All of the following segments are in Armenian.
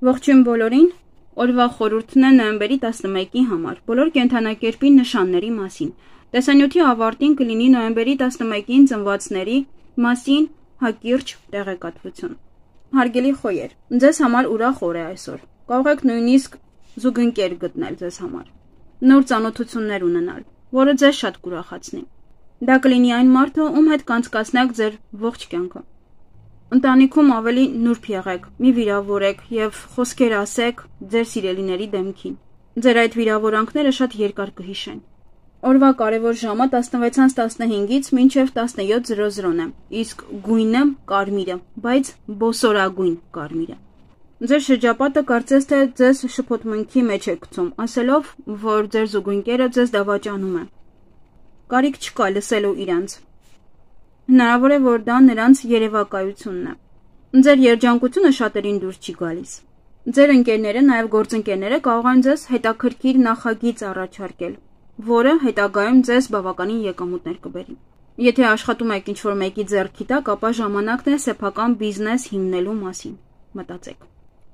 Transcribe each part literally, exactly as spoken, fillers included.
Ողջույն բոլորին, օրվա խորհուրդն է նոյեմբերի տասնմեկի համար, բոլոր կենդանակերպի նշանների մասին։ Տեսանյութի ավարտին կլինի նոյեմբերի տասնմեկին ծնվածների մասին հակիրճ տեղեկատվություն։ Հարգելի խոյեր, ձեզ համար ուրախ օր է այսօր։ Կարող եք նույնիսկ զուգընկեր գտնել ձեզ համար, նոր ծանոթություններ ունենալ, որը ձեզ շատ կուրախացնի։ Դա կլինի այն մարդը, ում հետ կանցկացնեք ձեր ողջ կյանքը։ Ընտանիքում ավելի նուրբ եղեք, մի վիրավորեք և խոսքեր ասեք ձեր սիրելիների դեմքին։ Ձեր այդ վիրավորանքները շատ երկար կհիշեն։ Օրվա կարևոր ժամը տասնվեցից տասնհինգից մինչև տասնյոթ է, իսկ գույնը կարմիրը, բայց բոսորագույն կարմիրը։ Ձեր շրջապատը կարծես թե ձեզ շփոթմունքի մեջ է գցում, ասելով, որ ձեր զուգընկերը ձեզ դավաճանում է։ Կարիք չկա լսելու իրանց։ Հնարավոր է, որ դա նրանց երևակայությունն է։ Ձեր երջանկությունը շատերին դուր չի գալիս։ Ձեր ընկերները, նաև գործընկերները կարող են ձեզ հետաքրքիր նախագիծ առաջարկել, որը հետագայում ձեզ բավականին եկամուտներ կբերի։ Եթե աշխատում եք ինչ-որ մեկի ձեռքի տակ, ապա ժամանակն է սեփական բիզնես հիմնելու մասին մտածեք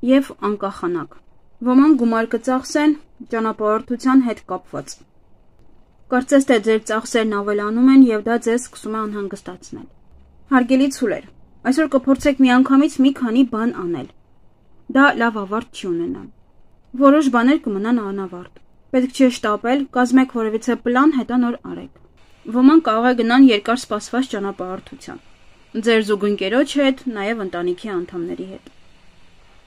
և անկախանաք։ Ոմանք գումար կծախսեն ճանապարհորդության հետ կապված։ Կարծես թե ձեր ծախսերն ավելանում են և դա ձեզ սկսում է անհանգստացնել։ Հարգելի ցուլեր, այսօր կփորձեք միանգամից մի քանի բան անել։ Դա լավ ավարտ չի ունենա։ Որոշ բաներ կմնան անավարտ։ Պետք չէ շտապել, կազմեք որևիցե պլան, հետո նոր արեք։ Ոմանք կարող է գնան երկար սպասված ճանապարհորդության։ Ձեր զուգընկերոջ հետ, նաև ընտանիքի անդամների հետ։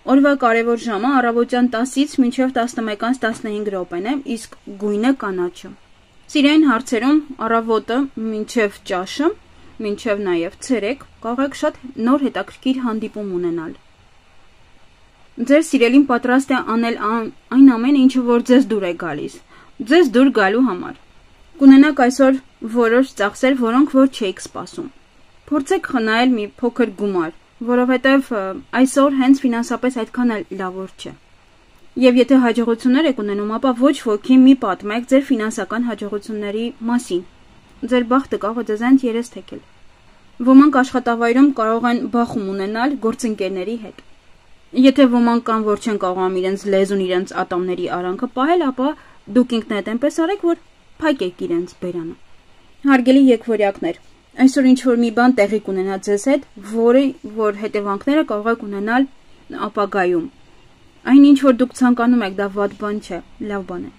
Օրվա կարևոր ժամը առավոտյան տասից մինչև տասնմեկից տասնհինգ րոպեն է, իսկ գույնը կանաչը։ Սիրային հարցերում առավոտը մինչև ճաշը, մինչև նաև ցերեկ կարող եք շատ նոր հետաքրքիր հանդիպում ունենալ։ Ձեր սիրելին պատրաստ է անել այն ամենը, ինչը որ ձեզ դուր է գալիս, ձեզ դուր գալու համար։ Կունենաք այսօր որոշ ծախսեր, որոնք որ չէիք սպասում։ Փորձեք խնայել մի փոքր գումար, որովհետև այսօր հենց ֆինանսապես այդքան էլ լավ օր չէ։ Եվ եթե հաջողություններ եք ունենում, ապա ոչ ոքի մի պատմեք ձեր ֆինանսական հաջողությունների մասին։ Ձեր բախտը կարող է ձեզ այնց երես թեքել։ Ոմանք աշխատավայրում կարող են բախում ունենալ գործընկերների հետ։ Եթե ոմանք կան, որ չեն կարողանում իրենց լեզուն, իրենց ատամների արանքը պահել, ապա դուք ինքներդ այնպես արեք, որ փակեք իրենց բերանը։ Հարգելի եկվորյակներ, այսօր ինչ-որ մի բան տեղի կունենա ձեզ հետ, որը որ հետևանքները կարող եք ունենալ ապագայում։ Այն ինչ որ դուք ցանկանում եք, դա վատ բան չէ, լավ բան է։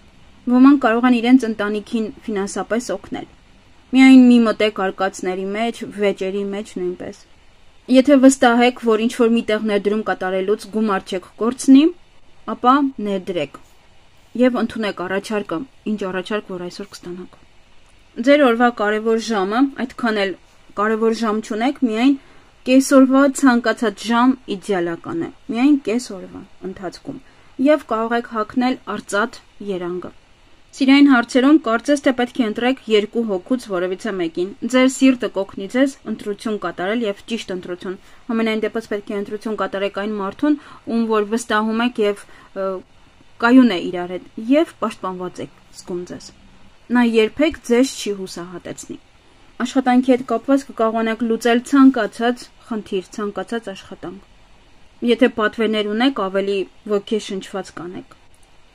Ոմանք կարող են իրենց ընտանիքին ֆինանսապես օգնել։ Միայն մի մտեք արկածների մեջ, վեճերի մեջ նույնպես։ Եթե վստահ եք, որ ինչ որ միտեղ ներդրում կատարելուց գումար չեք կորցնի, ապա ներդրեք եւ ընդունեք առաջարկը, ինչ առաջարկ որ այսօր կստանաք։ Ձեր օրվա կարևոր ժամը, այդքան էլ կարևոր ժամ չունեք, միայն կեսօրվա ցանկացած ժամ իդեալական է, միայն կեսօրվա ընթացքում, և կարող եք հագնել արծաթ երանգը։ Սիրային հարցերում կարծես թե պետք է ընտրեք երկու հոգուց որևիցե մեկին։ Ձեր սիրտը կօգնի ձեզ ընտրություն կատարել և ճիշտ ընտրություն։ Համենայն դեպս պետք է ընտրություն կատարեք այն մարդուն, ում որ վստահում եք և կայուն է իրար հետ, և պաշտպանված եք զգում ձեզ։ Նա երբեք ձեզ չի հուսահատեցնի։ Աշխատանքի հետ կապված կկարողանաք լուծել ցանկացած խնդիր, ցանկացած աշխատանք։ Եթե պատվերներ ունեք, ավելի ոգեշնչված կանեք։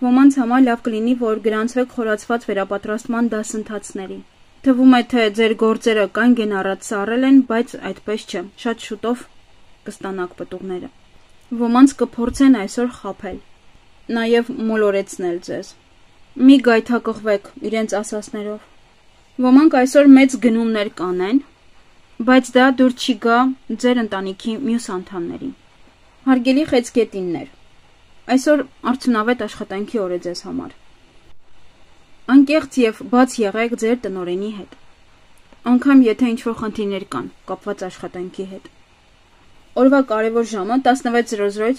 Ոմանց համար լավ կլինի, որ գրանցվեք խորացված վերապատրաստման դասընթացների։ Թվում է, թե ձեր գործերը կանգ են առած սառել են, բայց այդպես չէ, շատ շուտով կստանաք պտուղները։ Ոմանց կփորձեն այսօր խաբել, նաև մոլորեցնել ձեզ։ Մի գայթակղվեք իրենց ասածներով։ Ոմանք այսօր մեծ գնումներ կանեն, բայց դա դուր չի գա ձեր ընտանիքի մյուս անդամներին։ Հարգելի խեցգետիններ, այսօր արդյունավետ աշխատանքի օր է ձեզ համար։ Անկեղծ և բաց եղեք ձեր տնօրենի հետ, անգամ եթե ինչ-որ խնդիրներ կան կապված աշխատանքի հետ։ Օրվա կարևոր ժամը տասնվեց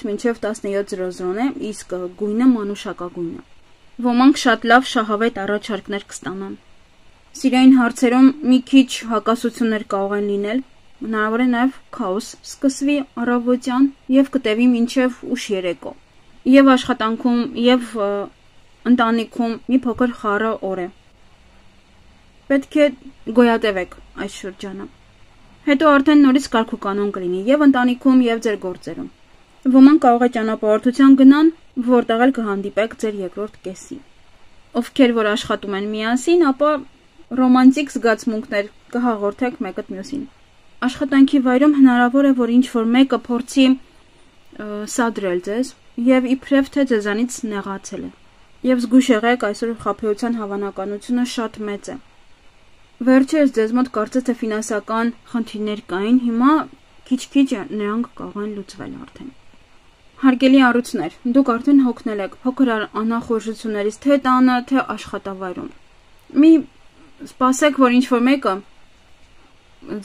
մինչև տասնյոթ է, իսկ գույնը մանուշակագույնը։ Ոմանք շատ լավ շահավետ առաջարկներ կստանան։ Սիրային հարցերում մի քիչ հակասություններ կարող են լինել, հնարավոր է նաև քաոս սկսվի առավոտյան և կտևի մինչև ուշ երեկո։ Եվ աշխատանքում, և ընտանիքում մի փոքր խառը օր է։ Պետք է գոյատևեք այս շրջանը։ Հետո արդեն նորից կարգուկանոն կլինի և ընտանիքում, և ձեր գործերում։ Ոմանք կարող է ճանապարհորդության գնան, որտեղ էլ կհանդիպեք ձեր երկրորդ կեսի։ Ովքեր որ աշխատում են միասին, ապա ռոմանտիկ զգացմունքներ կհաղորդեք մեկը մյուսին։ Աշխատանքի վայրում հնարավոր է, որ ինչ-որ մեկը փորձի սադրել ձեզ եւ իբրև թե ձեզանից նեղացել է։ Եվ զգույշ եղեք, այսօր խաբեության հավանականությունը շատ մեծ է։ Վերջերս ձեզ մոտ կարծես թե ֆինանսական խնդիրներ կային, հիմա քիչ-քիչ նրանք կարող են լուծվել արդեն։ Հարգելի առույցներ, դուք արդեն հոգնել եք փոքր անախորժություններից թե տանը, թե աշխատավայրում։ Մի սպասեք, որ ինչ-որ մեկը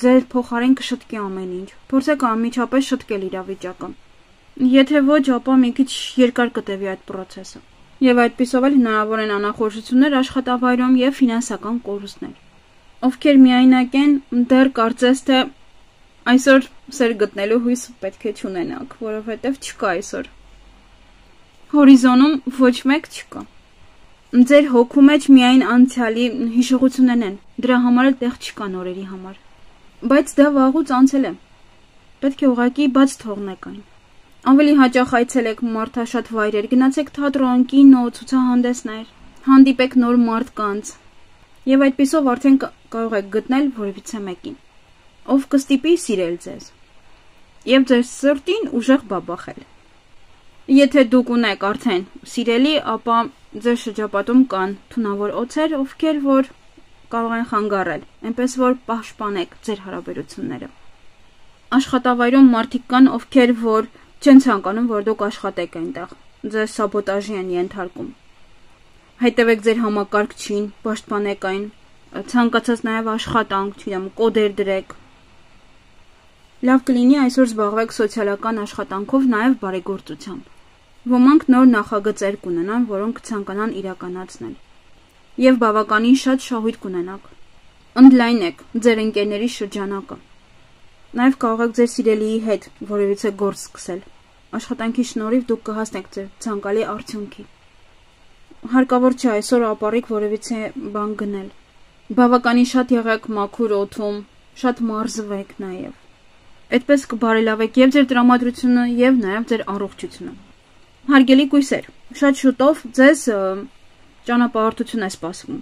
ձեր փոխարեն կշտկի ամեն ինչ։ Փորձեք անմիջապես շտկել իրավիճակը։ Եթե ոչ, ապա մի քիչ երկար կտևի այդ process-ը։ Եվ այդպիսով էլ հնարավոր են անախորժություններ աշխատավայրում եւ ֆինանսական կորուստներ։ Ովքեր միայնակ են, դեռ կարծես թե այսօր սեր գտնելու հույս պետք է չունենաք, որովհետև չկա այսօր։ Հորիզոնում ոչ մեկ չկա։ Ձեր հոգու մեջ միայն անցյալի հիշողություններն են, դրա համար էլ տեղ չկա նորերի համար։ Բայց դա վաղուց անցել է։ Պետք է ուղղակի բաց թողնեք այն։ Ավելի հաճախ այցելեք մարդաշատ վայրեր, գնացեք թատրոն, կինո, ցուցահանդեսներ, հանդիպեք նոր մարդկանց։ Եվ այդպիսով արդեն կարող եք գտնել որևիցե մեկին, ով կստիպի սիրել ձեզ եւ ձեր սրտին ուժեղ բաբախել։ Եթե դուք ունեք արդեն սիրելի, ապա ձեր շրջապատում կան թունավոր օձեր, ովքեր որ կարող են խանգարել, այնպես որ պաշտպանեք ձեր հարաբերությունները։ Աշխատավայրում մարդիկ կան, ովքեր որ չեն ցանկանում, որ դուք աշխատեք այնտեղ, ձեզ սաբոտաժի են ենթարկում։ Հետևեք ձեր համակարգչին, պաշտպանեք այն, ցանկացած նաև աշխատանք, չգիտեմ, կոդեր դրեք։ Լավ կլինի այսօր զբաղվեք սոցիալական աշխատանքով, նաև բարեգործությամբ։ Ոմանք նոր նախագծեր կունենան, որոնք կցանկանան իրականացնել։ Եվ բավականին շատ շահույթ կունենաք։ Ընդլայնեք ձեր ընկերների շրջանակը։ Նաև կարող եք ձեր սիրելիի հետ որևիցե գործ սկսել։ Աշխատանքի շնորհիվ դուք կհասնեք ձեր ցանկալի արդյունքի։ Հարկավոր չէ այսօր ապառիկ որևիցե բան գնել։ Բավականին շատ եղեք մաքուր օդում, շատ մարզվեք նաև։ Այդպես կբարելավեք եւ ձեր տրամադրությունը եւ նաեւ ձեր առողջությունը։ Հարգելի կույսեր, շատ շուտով ձեզ ճանապարհորդություն է սպասվում։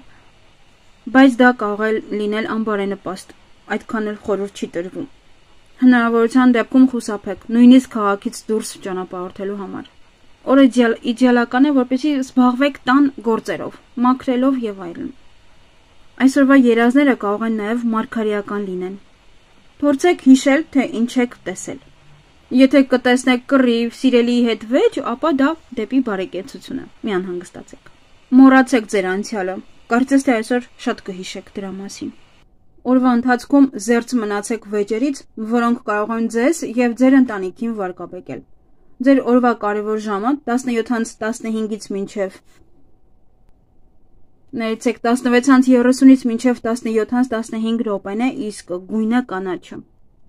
Բայց դա կարող է լինել անբարենպաստ, այդքան էլ խորհուրդ չի տրվում։ Հնարավորության դեպքում խուսափեք, նույնիսկ քաղաքից դուրս ճանապարհորդելու համար։ Օրը իդեալական է, որպեսզի զբաղվեք տան գործերով, մաքրելով եւ այլն։ Այսօրվա երազները կարող են նաեւ մարգարեական լինեն։ Փորձեք հիշել, թե ինչ եք տեսել։ Եթե կտեսնեք կռիվ, սիրելիի հետ վեճ, ապա դա դեպի բարեկեցություն է։ Մի անհանգստացեք։ Մոռացեք ձեր անցյալը։ Կարծես թե այսօր շատ կհիշեք դրա մասին։ Օրվա ընթացքում զերծ մնացեք վեճերից, որոնք կարող են ձեզ եւ ձեր ընտանիքին վարկաբեկել։ Ձեր օրվա կարևոր ժամը տասնյոթից տասնհինգից մինչև ներեցեք տասնվեցից երեսունից մինչև տասնյոթից տասնհինգ րոպեն է, իսկ գույնը կանաչը։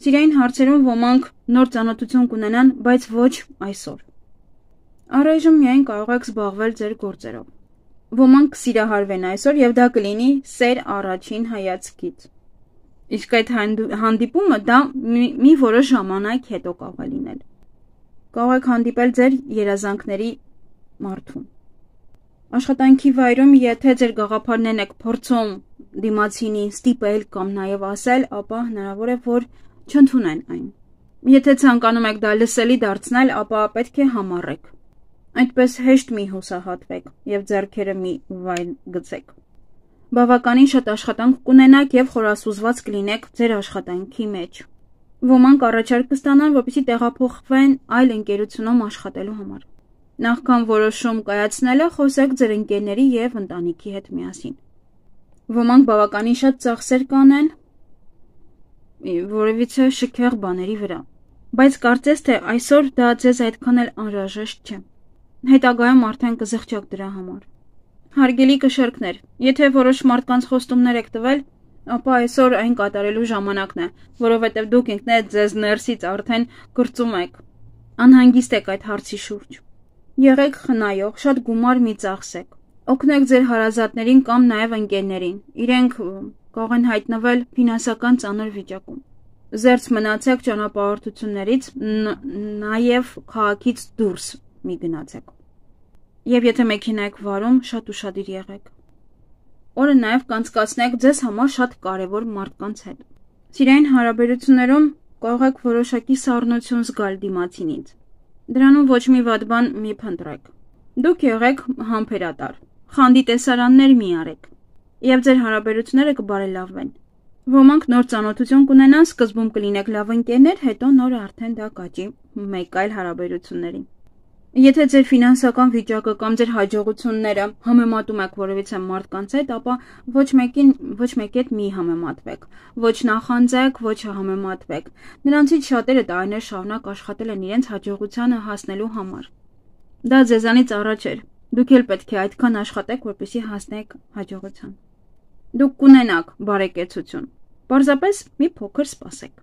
Սիրային հարցերում ոմանք նոր ծանոթություն կունենան, բայց ոչ այսօր։ Առայժմ միայն կարող եք զբաղվել ձեր գործերով։ Ոմանք կսիրահարվեն այսօր եւ դա կլինի սեր առաջին հայացքից։ Իսկ այդ հանդիպումը դա մի որոշ ժամանակ հետո կարող է լինել։ Կարող եք հանդիպել ձեր երազանքների մարդուն։ Աշխատանքի վայրում, եթե ձեր գաղափարներն եք փորձում դիմացինին ստիպել կամ նաև ասել, ապա հնարավոր է, որ չընդունեն այն։ Եթե ցանկանում եք դա լսելի դարձնել, ապա պետք է համառեք։ Այդպես հեշտ մի հուսահատվեք եւ ձեռքերը մի վայր գցեք։ Բավականին շատ աշխատանք կունենաք եւ խորասուզված կլինեք ձեր աշխատանքի մեջ։ Ոմանք առաջարկ կստանան, որպեսզի տեղափոխվեն այլ ընկերությունում աշխատելու համար։ Նախքան որոշում կայացնելը խոսեք ձեր ընկերների եւ ընտանիքի հետ միասին։ Ոմանք բավականին շատ ծախսեր կանեն որևիցե շքեղ բաների վրա, բայց կարծես թե այսօր դա ձեզ այդքան էլ անհրաժեշտ չէ։ Հետագայում արդեն կզղջաք դրա համար։ Հարգելի կշերկներ, եթե որոշ մարդկանց խոստումներ եք տվել, ապա այսօր այն կատարելու ժամանակն է, որովհետև դուք ինքներդ ձեզ ներսից արդեն կրծում եք։ Անհանգիստ եք այդ հարցի շուրջ։ Եղեք խնայող, շատ գումար մի ծախսեք։ Օգնեք ձեր հարազատներին կամ նաև ընկերներին։ Իրենք կարող են հայտնվել ֆինանսական ծանր վիճակում։ Զերծ մնացեք ճանապարհորդություններից, նաև քաղաքից դուրս մի գնացեք։ Եվ եթե մեքենա եք վարում, շատ ուշադիր եղեք։ Օրը նաև կանցկացնեք ձեզ համար շատ կարևոր մարդկանց հետ։ Սիրային հարաբերություններում կարող եք որոշակի սառնություն զգալ դիմացինից։ Դրանում ոչ մի վատ բան մի փնտրեք։ Դուք եղեք համբերատար, խանդի տեսարաններ մի արեք, եւ ձեր հարաբերությունները կբարելավվեն։ Ոմանք նոր ծանոթություն կունենան, սկզբում կլինեք լավ ընկերներ, հետո նորը արդեն դա կաճի մեկ այլ հարաբերությունների։ Եթե ձեր ֆինանսական վիճակը կամ ձեր հաջողությունները համեմատում եք որևիցե մարդկանց հետ, ապա ոչ մեկին, ոչ մեկի հետ մի համեմատվեք, ոչ նախանձեք, ոչ համեմատվեք։ Նրանցից շատերը տարիներ շարունակ աշխատել են իրենց հաջողությանը հասնելու համար։ Դա ձեզանից առաջ էր։ Դուք էլ պետք է այդքան աշխատեք, որպեսզի հասնեք հաջողության։ Դուք կունենաք բարեկեցություն։ Պարզապես մի փոքր սպասեք։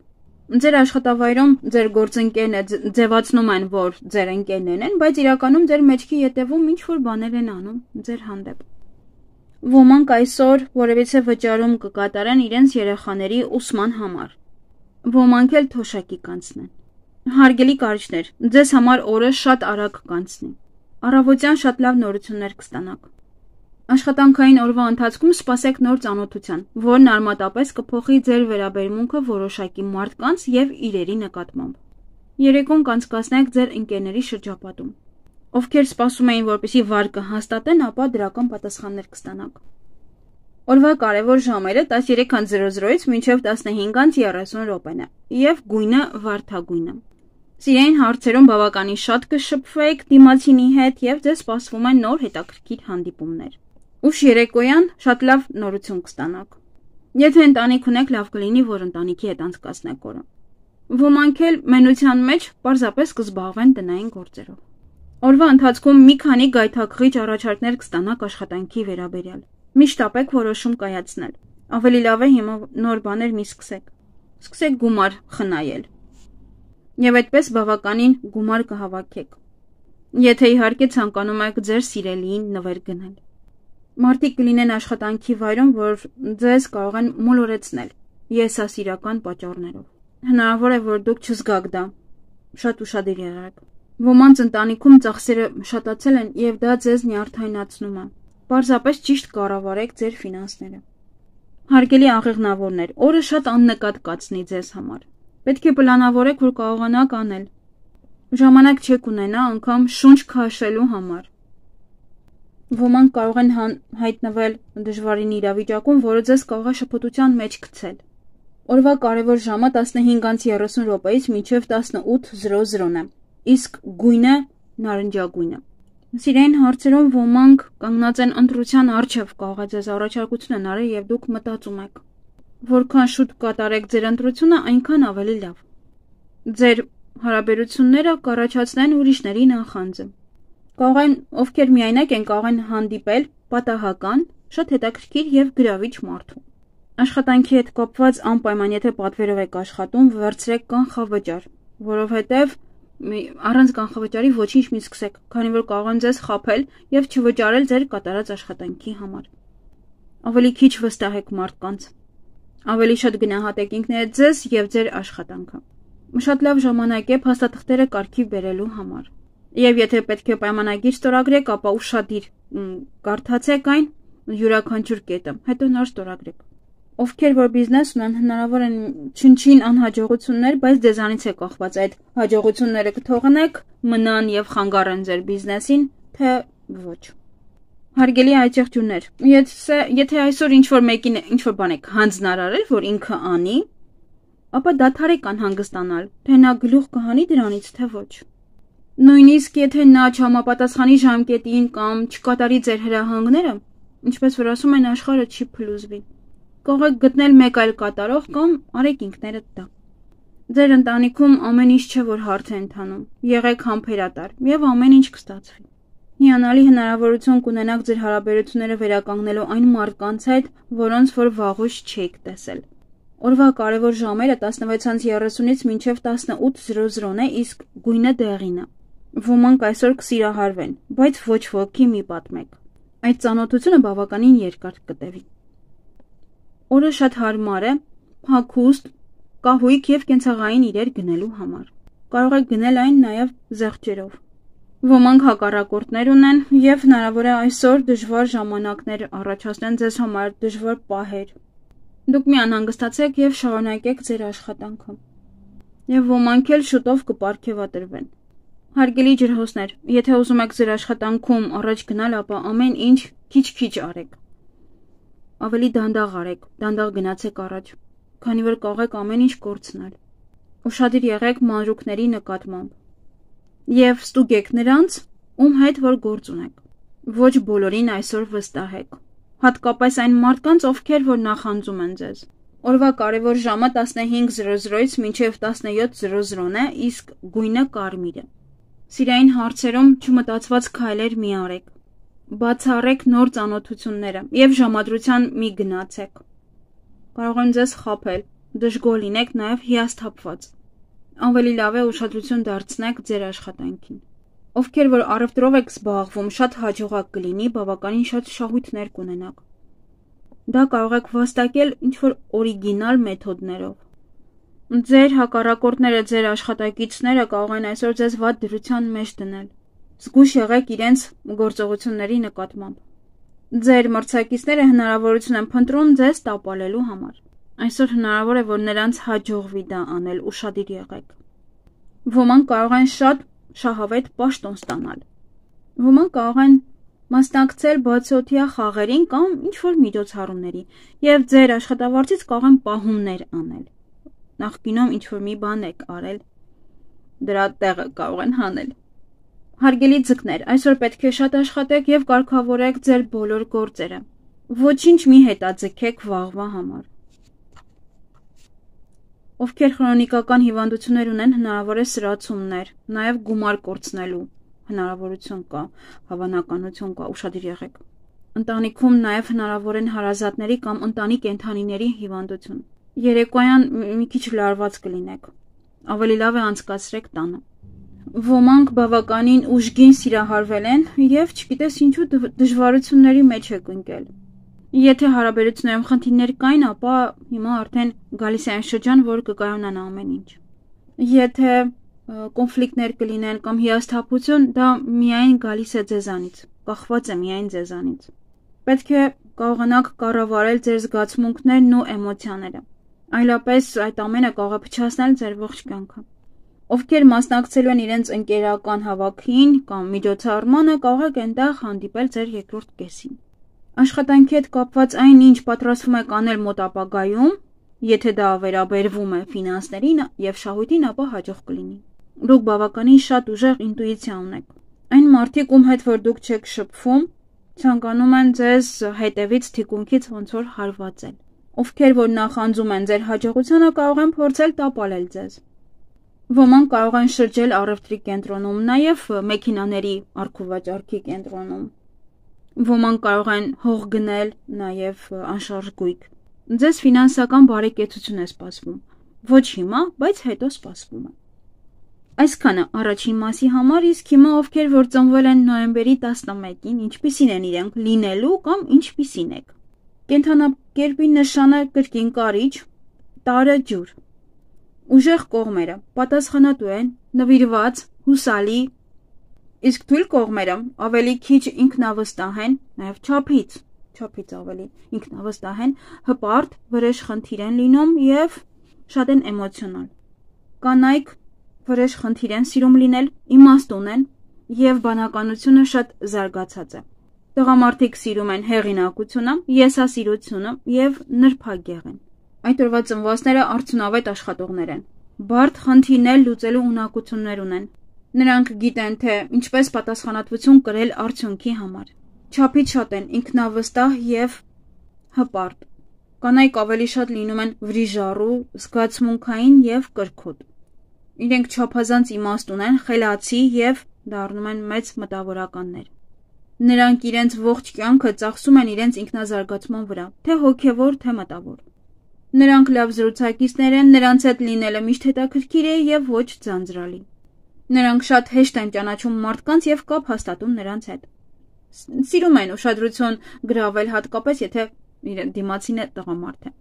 Ձեր աշխատավայրում ձեր գործընկերները ձևացնում են, որ ձեր ընկերներն են, բայց իրականում ձեր մեջքի ետևում ինչ-որ բաներ են անում ձեր հանդեպ։ Ոմանք այսօր որևիցե վճարում կկատարեն իրենց երեխաների ուսման համար։ Ոմանք էլ թոշակի կանցնեն։ Հարգելի կարիճներ, ձեզ համար օրը շատ արագ կանցնի։ Առավոտյան շատ լավ նորություններ կստանաք։ Աշխատանքային օրվա ընթացքում սպասեք նոր ծանոթության, որն արմատապես կփոխի ձեր վերաբերմունքը որոշակի մարդկանց եւ իրերի նկատմամբ։ Երեկոն կանցկացնեք ձեր ընկերների շրջապատում։ Ովքեր սպասում էին, որպեսզի վարկը հաստատեն, ապա դրական պատասխաններ կստանաք։ Օրվա կարևոր ժամերը տասներեք զրոզից մինչև տասնհինգ երեսուն րոպեն է եւ գույնը վարդագույնը։ Սիրային հարցերում բավականին շատ կշփվեք դիմացինի հետ եւ ձեզ սպասվում են նոր հետաքրքիր հանդիպումներ։ Ուշ երեկոյան շատ լավ նորություն կստանաք։ Եթե ընտանիք ունեք, լավ կլինի, որ ընտանիքի հետ անցկացնեք օրը։ Ոմանք էլ մենության մեջ պարզապես կզբաղվեն տնային գործերով։ Օրվա ընթացքում մի քանի գայթակղիչ առաջարկներ կստանաք աշխատանքի վերաբերյալ։ Միշտ ապեք որոշում կայացնել։ Ավելի լավ է հիմա նոր բաներ մի սկսեք։ Սկսեք գումար խնայել։ Եվ այդպես բավականին գումար կհավաքեք։ Եթե իհարկե ցանկանում եք ձեր սիրելիին նվեր գնել։ Մարդիկ կլինեն աշխատանքի վայրում, որ ձեզ կարող են մոլորեցնել եսասիրական պատճառներով։ Հնարավոր է, որ դուք չզգաք դա։ Շատ ուշադիր եղեք։ Ոմանց ընտանիքում ծախսերը շատացել են եւ դա ձեզ նյարդայնացնում է։ Պարզապես ճիշտ կառավարեք ձեր ֆինանսները։ Հարգելի աղեղնավորներ, օրը շատ աննկատ կացնի ձեզ համար։ Պետք է պլանավորեք, որ կարողանաք անել։ Ժամանակ չեք ունենա անգամ շունչ քաշելու համար։ Ոմանք կարող են հայտնվել դժվարին իրավիճակում, որը ձեզ կարող է շփոթության մեջ գցել։ Օրվա կարևոր ժամը տասնհինգ երեսուն րոպեից մինչև տասնութ զրոզրոն է, իսկ գույնը նարնջագույնը։ Սիրային հարցերում ոմանք կանգնած են ընտրության առջև, կարող է ձեզ առաջարկություն են արել եւ դուք մտածում եք։ Որքան շուտ կատարեք ձեր ընտրությունը, այնքան ավելի լավ։ Ձեր հարաբերությունները կառաջացնեն ուրիշների նախանձը։ Կարող են, ովքեր միայնակ են, կարող են հանդիպել պատահական, շատ հետաքրքիր եւ գրավիչ մարդու։ Աշխատանքի հետ կապված անպայման, եթե պատվերով եք աշխատում, վերցրեք կանխավճար, որովհետեւ առանց կանխավճարի ոչինչ մի սկսեք, քանի որ կարող են ձեզ խաբել եւ չվճարել ձեր կատարած աշխատանքի համար։ Ավելի քիչ վստահեք մարդկանց։ Ավելի շատ գնահատեք ինքներդ ձեզ եւ ձեր աշխատանքը։ Շատ լավ ժամանակ է փաստաթղթերը կարգի բերելու համար։ Եվ եթե պետք է պայմանագիր ստորագրեք, ապա ուշադիր կարդացեք այն յուրաքանչյուր կետը, հետո նոր ստորագրեք։ Ովքեր որ բիզնես ունեն, հնարավոր են չնչին անհաջողություններ, բայց ձեզանից է կախված այդ հաջողությունները կթողնեք, մնան եւ խանգարեն ձեր բիզնեսին, թե ոչ։ Հարգելի այցեղջուններ, եթե եթե այսօր ինչ-որ մեկին ինչ-որ բան եք հանձնարարել, որ ինքը անի, ապա դադարեք անհանգստանալ, թե նա գլուխ կհանի դրանից, թե ոչ։ Նույնիսկ եթե նա չհամապատասխանի ժամկետին կամ չկատարի ձեր հրահանգները, ինչպես որ ասում են, աշխարհը չի փլուզվի։ Կարող եք գտնել մեկ այլ կատարող կամ արեք ինքներդ դա։ Ձեր ընտանիքում ամեն ինչ չէ, որ հարթ է ընթանում։ Եղեք համբերատար եւ ամեն ինչ կստացվի։ Հիանալի հնարավորություն կունենաք ձեր հարաբերությունները վերականգնելու այն մարդկանց հետ, որոնց որ վաղուց չեք տեսել։ Օրվա կարևոր ժամերը տասնվեց երեսունից մինչև տասնութ զրոզրոն է, իսկ գույնը դեղին է։ Ոմանք այսօր կսիրահարվեն, բայց ոչ ոքի մի պատմեք։ Այդ ծանոթությունը բավականին երկար կտևի։ Օրը շատ հարմար է, հագուստ, կահույք և կենցաղային իրեր գնելու համար։ Կարող եք գնել այն նաև զեղչերով։ Ոմանք հակառակորդներ ունեն և հնարավոր է այսօր դժվար ժամանակներ առաջացնեն ձեզ համար, դժվար պահեր։ Դուք մի անհանգստացեք և շարունակեք ձեր աշխատանքը։ Եվ ոմանք էլ շուտով կպարգևատրվեն։ Հարգելի ջրհոսներ, եթե ուզում եք ձեր աշխատանքում առաջ գնալ, ապա ամեն ինչ քիչ-քիչ արեք։ Ավելի դանդաղ արեք, դանդաղ գնացեք առաջ, քանի որ կարող եք ամեն ինչ կորցնել։ Ուշադիր եղեք մանրուքների նկատմամբ։ Եվ ստուգեք նրանց, ում հետ որ գործ ունեք։ Ոչ բոլորին այսօր վստահեք։ Հատկապես այն մարդկանց, ովքեր որ նախանձում են ձեզ։ Օրվա կարևոր ժամը տասնհինգ զրո զրոից մինչև տասնյոթ զրո զրոն է, իսկ գույնը կարմիր է։ Սիրային հարցերում չմտածված քայլեր մի արեք։ Բացառեք նոր ծանոթությունները և ժամադրության մի գնացեք։ Կարող են ձեզ խաբել, դժգոհ լինեք նաև հիասթափված։ Ավելի լավ է ուշադրություն դարձնեք ձեր աշխատանքին։ Ովքեր որ առևտրով եք զբաղվում, շատ հաջողակ կլինի, բավականին շատ շահույթներ կունենաք։ Դա կարող եք վաստակել ինչ-որ օրիգինալ մեթոդներով։ Ձեր հակառակորդները, ձեր աշխատակիցները կարող են այսօր ձեզ վատ դրության մեջ դնել։ Զգույշ եղեք իրենց գործողությունների նկատմամբ։ Ձեր մրցակիցները հնարավորություն են փնտրում ձեզ տապալելու համար։ Այսօր հնարավոր է, որ նրանց հաջողվի դա անել, ուշադիր եղեք։ Ոմանք կարող են շատ շահավետ պաշտոն ստանալ։ Ոմանք կարող են մասնակցել բացօթյա խաղերին կամ ինչ-որ միջոցառումների և ձեր աշխատավարձից կարող են պահումներ անել։ Նախկինում ինչ-որ մի բան եք արել, դրա տեղը կարող են հանել։ Հարգելի ձկներ, այսօր պետք է շատ աշխատեք և կարգավորեք ձեր բոլոր գործերը։ Ոչինչ մի հետաձգեք վաղվա համար։ Ովքեր քրոնիկական հիվանդություններ ունեն, հնարավոր է սրացումներ, նաև գումար կորցնելու հնարավորություն կա, հավանականություն կա, ուշադիր եղեք։ Ընտանիքում նաև հնարավոր են հարազատների կամ ընտանի կենդանիների հիվանդություն։ Երեկոյան մի քիչ լարված կլինեք։ Ավելի լավ է անցկացրեք տանը։ Ոմանք բավականին ուժգին սիրահարվել են և չգիտես ինչու դժվարությունների մեջ եք ընկել։ Եթե հարաբերություններում խնդիրներ կային, ապա հիմա արդեն գալիս է այն շրջան, որ կկայանան ամեն ինչ։ Եթե կոնֆլիկտներ կլինեն կամ հիասթափություն, դա միայն գալիս է ձեզանից, կախված է միայն ձեզանից։ Պետք է կարողանաք կառավարել ձեր զգացմունքներն ու էմոցիաները, այլապես այդ ամենը կարող է փչացնել ձեր ողջ կյանքը։ Ովքեր մասնակցելու են իրենց ընկերական հավաքին կամ միջոցառմանը, կարող եք այնտեղ հանդիպել ձեր երկրորդ կեսին։ Աշխատանքի հետ կապված այն, ինչ պատրաստվում եք անել մոտ ապագայում, եթե դա վերաբերվում է ֆինանսներին և շահույթին, ապա հաջող կլինի։ Դուք բավականին շատ ուժեղ ինտուիցիա ունեք։ Այն մարդիկ, ում հետ որ դուք չեք շփվում, ցանկանում են ձեզ հետևից թիկունքից ոնց որ հարվածել։ Ովքեր որ նախանձում են ձեր հաջողությանը, կարող են փորձել տապալել ձեզ։ Ոմանք կարող են շրջել առևտրի կենտրոնում, նաև մեքենաների առքուվաճառքի կենտրոնում։ Ոմանք կարող են հող գնել, նաև անշարժ գույք։ Ձեզ ֆինանսական բարեկեցություն է սպասվում։ Ոչ հիմա, բայց հետո սպասվում է։ Այսքանը առաջին մասի համար, իսկ հիմա ովքեր որ ծնվել են նոյեմբերի տասնմեկին, ինչպիսին են իրենք լինելու կամ ինչպիսին եք։ Կենդանակերպի նշանը կրկին կարիճ, տարը ջուր։ Ուժեղ կողմերը պատասխանատու են, նվիրված, հուսալի, իսկ թույլ կողմերը ավելի քիչ ինքնավստահ են, նաև չափից, չափից ավելի ինքնավստահ են, հպարտ, վրեժ խնդիր են լինում և շատ են էմոցիոնալ։ Կանայք վրեժ խնդիր են սիրում լինել, իմաստուն են և բանականությունը շատ զարգացած է։ Տղամարդիկ սիրում են հեղինակությունը, եսասիրությունը և նրբագեղ են։ Այդ օրվա ծնվածները արդյունավետ աշխատողներ են։ Բարդ խնդիրներ լուծելու ունակություններ ունեն։ Նրանք գիտեն, թե ինչպես պատասխանատվություն կրել արդյունքի համար։ Չափից շատ են ինքնավստահ և հպարտ։ Կանայք ավելի շատ լինում են վրիժառու, զգացմունքային և կրքոտ։ Իրենք չափազանց իմաստուն են, խելացի և դառնում են մեծ մտավորականներ։ Նրանք իրենց ողջ կյանքը ծախսում են իրենց ինքնազարգացման վրա, թե հոգևոր, թե մտավոր։ Նրանք լավ զրուցակիցներ են, նրանց հետ լինելը միշտ հետաքրքիր է և ոչ ձանձրալի։ Նրանք շատ հեշտ են ճանաչում մարդկանց և կապ հաստատում նրանց հետ։ Սիրում են ուշադրություն գրավել, հատկապես եթե դիմացինը տղամարդ է։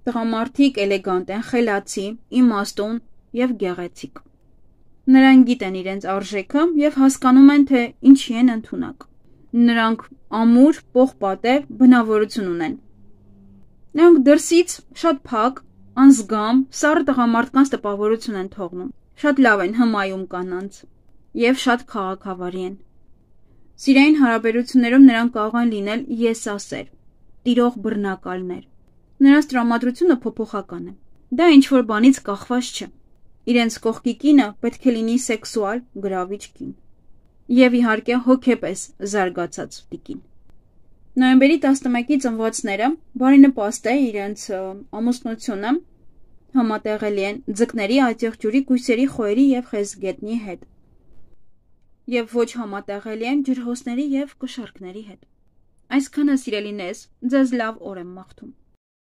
Տղամարդիկ էլեգանտ են, խելացի, իմաստուն և գեղեցիկ։ Նրանք գիտեն իրենց արժեքը և հասկանում են, թե ինչի են ընդունակ։ Նրանք ամուր, պողպատե բնավորություն ունեն։ Նրանք դրսից շատ փակ, անզգամ, սառը տղամարդկանց տպավորություն են թողնում, շատ լավ են հմայում կանանց և շատ քաղաքավարի են։ Սիրային հարաբերություններում նրանք կարող են լինել եսասեր, տիրող բռնակալներ։ Նրանց տրամադրությունը փոփոխական է։ Դա ինչ-որ բանից կախված չէ։ Իրենց կողքի կինը պետք է լինի սեքսուալ, գրավիչ կին։ Եվ իհարկե հոգեպես զարգացած տիկին։ Նոյեմբերի տասնմեկի ծնվածները բարենպաստ է իրենց ամուսնությունը համատեղելի են ձկների, այծեղջյուրի, կույսերի, խոյերի և խեցգետնի հետ։ Եվ ոչ համատեղելի են ջրհոսների և կշառքների հետ։ Այսքանը սիրելիներս, ձեզ լավ օր եմ մաղթում։